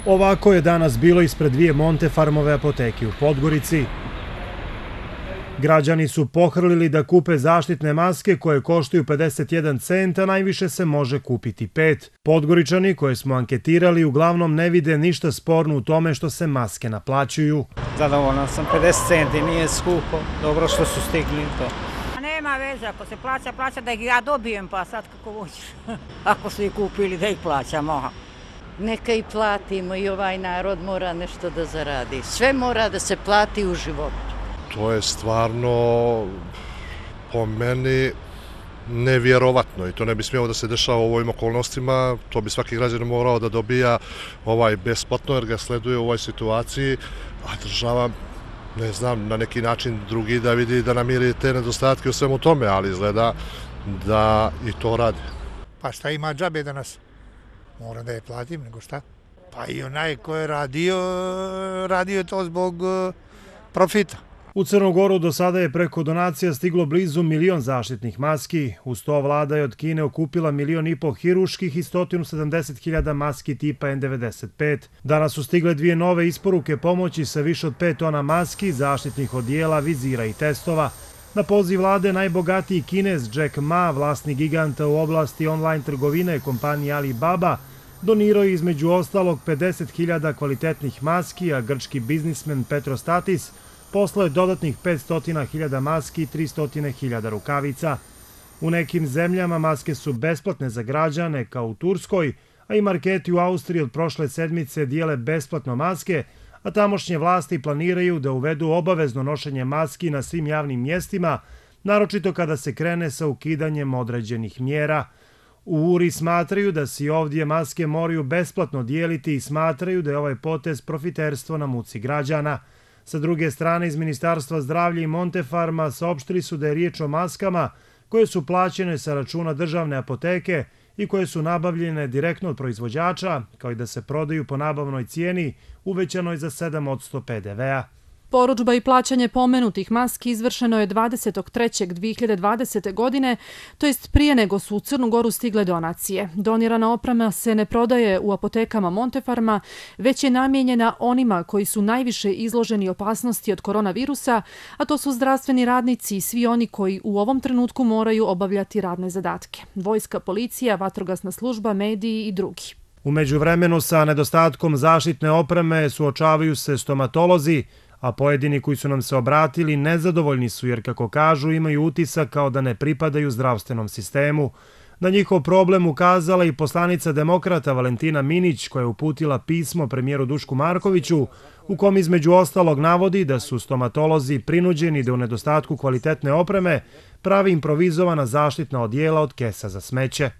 Ovako je danas bilo ispred dvije Montefarmove apoteke u Podgorici. Građani su pohrlili da kupe zaštitne maske koje koštaju 51 cent, a najviše se može kupiti 5. Podgoričani koje smo anketirali uglavnom ne vide ništa sporno u tome što se maske naplaćuju. Zadovoljan sam, 50 centi, nije skupo, dobro što su stigli to. Nema veze, ako se plaća da ih ja dobijem, pa sad kako hoćeš. Ako su ih kupili da ih plaćamo. Neka i platimo i ovaj narod mora nešto da zaradi. Sve mora da se plati u životu. To je stvarno po meni nevjerovatno i to ne bi smjelo da se dešava u ovim okolnostima. To bi svaki građanin morao da dobija besplatno jer ga sleduje u ovoj situaciji, a država, ne znam, na neki način drugi da vidi da namiri te nedostatke u svemu tome, ali izgleda da i to radi. Pa šta ima džabe danas? Moram da je platim, nego šta? Pa i onaj ko je radio to zbog profita. U Crnu Goru do sada je preko donacija stiglo blizu 1 milion zaštitnih maski. Uz to vlada je od Kine okupila 1,5 miliona hiruških i 170.000 maski tipa N95. Danas su stigle dvije nove isporuke pomoći sa više od 5 tona maski, zaštitnih odijela, vizira i testova. Na poziv vlade najbogatiji Kinez Jack Ma, vlasnik giganta u oblasti online trgovine kompanije Alibaba, donirao je između ostalog 50.000 kvalitetnih maski, a grčki biznismen Petrostatis poslao je dodatnih 500.000 maski i 300.000 rukavica. U nekim zemljama maske su besplatne za građane, kao u Turskoj, a i marketi u Austriji od prošle sedmice dijele besplatno maske, a tamošnje vlasti planiraju da uvedu obavezno nošenje maski na svim javnim mjestima, naročito kada se krene sa ukidanjem određenih mjera. U URI smatraju da se i ovdje maske moraju besplatno dijeliti i smatraju da je ovaj potez profiterstvo na muci građana. Sa druge strane, iz Ministarstva zdravlja i Montefarma saopštili su da je riječ o maskama koje su plaćene sa računa državne apoteke i koje su nabavljene direktno od proizvođača, kao i da se prodaju po nabavnoj cijeni uvećanoj za 7% PDV-a. Porudžba i plaćanje pomenutih maski izvršeno je 20.3.2020. godine, to jest prije nego su u Crnu Goru stigle donacije. Donirana oprema se ne prodaje u apotekama Montefarma, već je namijenjena onima koji su najviše izloženi opasnosti od koronavirusa, a to su zdravstveni radnici i svi oni koji u ovom trenutku moraju obavljati radne zadatke. Vojska, policija, vatrogasna služba, mediji i drugi. U međuvremenu sa nedostatkom zaštitne opreme suočavaju se stomatolozi, a pojedini koji su nam se obratili nezadovoljni su jer, kako kažu, imaju utisak kao da ne pripadaju zdravstvenom sistemu. Na njihov problem ukazala i poslanica demokrata Valentina Minić, koja je uputila pismo premijeru Dušku Markoviću, u kom između ostalog navodi da su stomatolozi prinuđeni da u nedostatku kvalitetne opreme pravi improvizovana zaštitna odijela od kesa za smeće.